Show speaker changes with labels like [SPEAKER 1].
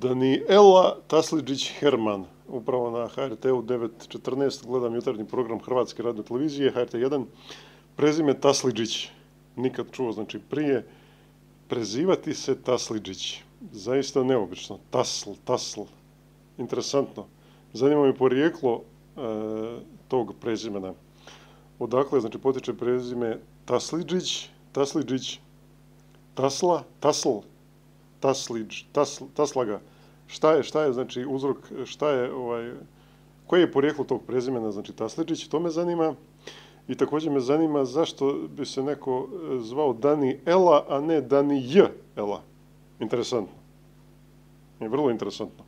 [SPEAKER 1] Danijela Taslidžić-Herman, upravo na HRT-u 9.14 gledam jutarnji program Hrvatske radiotelevizije, HRT1, prezime Taslidžić, nikad čuo, znači prije, prezivati se Taslidžić, zaista neobično, Tasl, interesantno. Zanima me porijeklo tog prezimena. Odakle, znači, potiče prezime Taslidžić, Tasla, Taslaga. Šta je, znači, uzrok, koje je porijeklo tog prezimena, znači, Taslidžić, to me zanima. I također me zanima zašto bi se neko zvao Danijela, a ne Danijela. Interesantno. Vrlo interesantno.